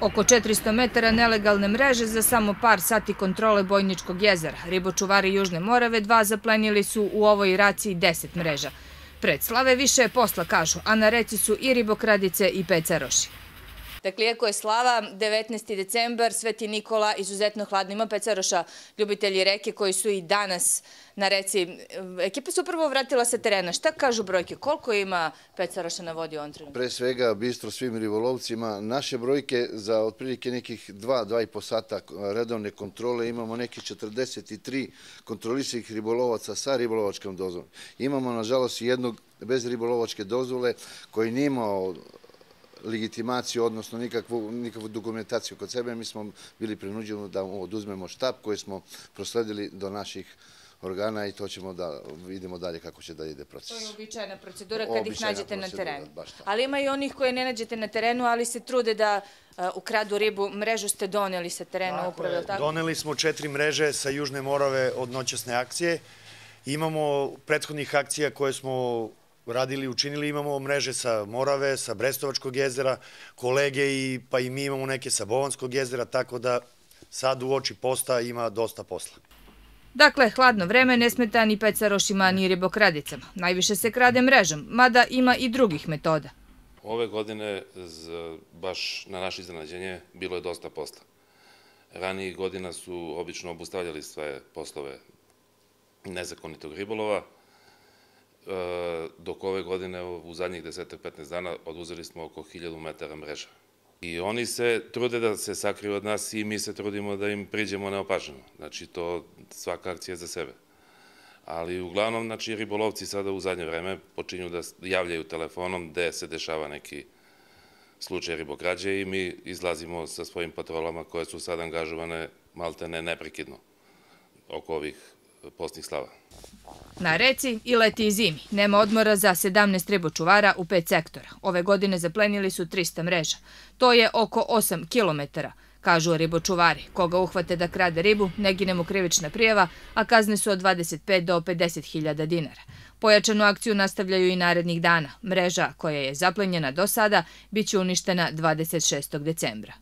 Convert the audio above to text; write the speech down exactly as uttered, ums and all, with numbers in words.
Oko četiristo metara nelegalne mreže za samo par sati kontrole Bojničkog jezera. Ribočuvari Južne Morave dva zaplenili su u ovoj raciji deset mreža. Pred slave više je posla, kažu, a na reci su i ribokradice i pecaroši. Dakle, iako je slava, devetnaesti decembar, Sveti Nikola, izuzetno hladno. Ima pecaroša, ljubitelji reke koji su i danas na reci. Ekipa se upravo vratila sa terena. Šta kažu brojke? Koliko ima pecaroša na vodi u ovom trenutku? Pre svega, bistro svim ribolovcima. Naše brojke za otprilike nekih dva, dva i po sata redovne kontrole imamo nekih četrdeset tri kontrolisanih ribolovaca sa ribolovačkom dozvolom. Imamo, nažalost, jednog bez ribolovačke dozvole koji nije imao legitimaciju, odnosno nikakvu dokumentaciju kod sebe. Mi smo bili prinuđeni da oduzmemo štab koji smo prosledili do naših organa i to ćemo da vidimo dalje kako će da ide proces. To je uobičajena procedura kad ih nađete na terenu. Ali ima i onih koje ne nađete na terenu, ali se trude da ukradu ribu. Mrežu ste doneli sa terena upravo, je li tako? Doneli smo četiri mreže sa Južne Morave od noćasne akcije. Imamo prethodnih akcija koje smo radili, učinili, imamo mreže sa Morave, sa Brestovačkog jezera, kolege pa i mi imamo neke sa Bovanskog jezera, tako da sad u oči posta ima dosta posla. Dakle, hladno vreme ne smeta ni pecarošima ni ribokradicama. Najviše se krade mrežom, mada ima i drugih metoda. Ove godine, baš na naše iznenađenje, bilo je dosta posla. Ranijih godina su obično obustavljali sve poslove nezakonitog ribolova, dok ove godine u zadnjih deset do petnaest dana oduzeli smo oko hiljadu metara mreža. I oni se trude da se sakriju od nas i mi se trudimo da im priđemo neopaženo. Znači, to svaka akcija za sebe. Ali uglavnom, znači, ribolovci sada u zadnje vreme počinju da javljaju telefonom gde se dešava neki slučaj ribokrađe i mi izlazimo sa svojim patrolama koje su sad angažovane maltene neprekidno oko ovih postnih slava. Na reci i leti i zimi. Nema odmora za sedamnaest ribočuvara u pet sektora. Ove godine zaplenili su trista mreža. To je oko osam kilometara, kažu ribočuvari. Koga uhvate da krade ribu, ne gine mu krivična prijava, a kazne su od dvadeset pet do pedeset hiljada dinara. Pojačanu akciju nastavljaju i narednih dana. Mreža koja je zaplenjena do sada biće uništena dvadeset šestog decembra.